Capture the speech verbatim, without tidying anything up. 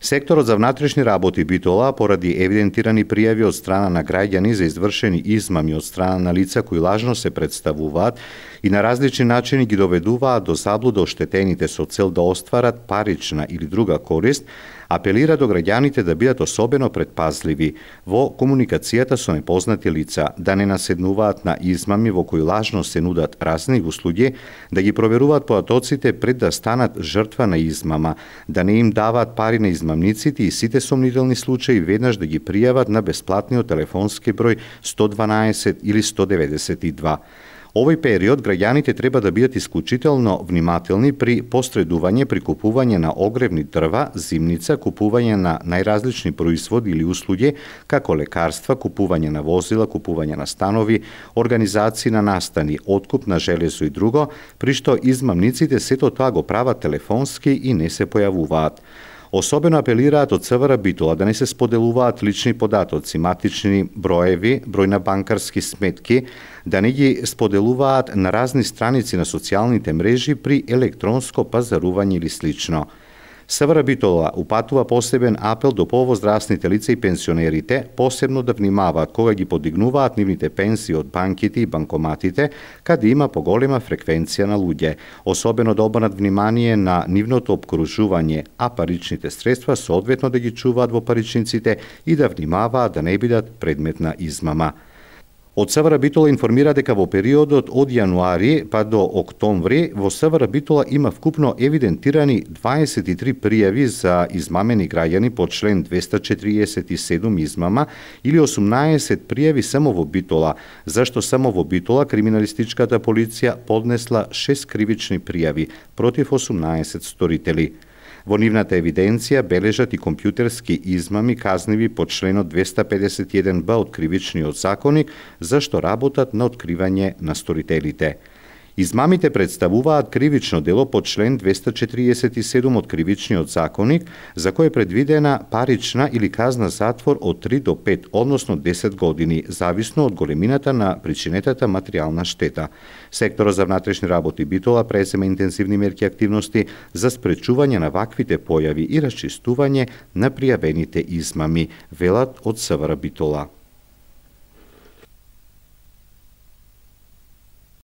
Секторот за внатрешни работи Битола, поради евидентирани пријави од страна на граѓани за извршени измами од страна на лица кои лажно се представуваат и на различни начини ги доведуваат до заблуда оштетените со цел да остварат парична или друга корист, апелира до граѓаните да бидат особено предпазливи во комуникацијата со непознати лица, да не наседнуваат на измами во кои лажно се нудат разни услуги, да ги проверуваат податоците пред да станат жртва на измама, да не им даваат пари на измамниците и сите сомнителни случаи веднаш да ги пријават на бесплатниот телефонски број сто дванаесет или сто деветдесет и два. Овој период граѓаните треба да бидат исклучително внимателни при посредување при купување на огревни дрва, зимница, купување на најразлични производи или услуги, како лекарства, купување на возила, купување на станови, организации на настани, откуп на железо и друго, при што измамниците сето тоа го прават телефонски и не се појавуваат. Особено апелираат од ЦВР Битола да не се споделуваат лични податоци, матични броеви, број на банкарски сметки, да не ги споделуваат на разни страници на социјалните мрежи при електронско пазарување или слично. ЦВР Битола упатува посебен апел до повозрастните лица и пенсионерите, посебно да внимаваат кога ги подигнуваат нивните пенсии од банките и банкоматите, каде има поголема фреквенција на луѓе, особено да обрнат внимание на нивното обкружување, а паричните средства соодветно да ги чуваат во паричниците и да внимаваат да не бидат предмет на измама. Од ЦВР Битола информира дека во периодот од јануари па до октомври во ЦВР Битола има вкупно евидентирани дваесет и три пријави за измамени граѓани по член двеста четириесет и седум измама или осумнаесет пријави само во Битола, зашто само во Битола криминалистичката полиција поднесла шест кривични пријави против осумнаесет сторители. Во нивната евиденција бележат и компјутерски измами казниви по членот двеста педесет и еден б од Кривичниот законник, зашто работат на откривање на сторителите. Измамите представуваат кривично дело по член двеста четириесет и седум од Кривичниот законник, за кој е предвидена парична или казна затвор од три до пет, односно десет години, зависно од големината на причинетата материјална штета. Секторот за внатрешни работи Битола презема интензивни мерки и активности за спречување на ваквите појави и расчистување на пријавените измами, велат од ЦВР Битола.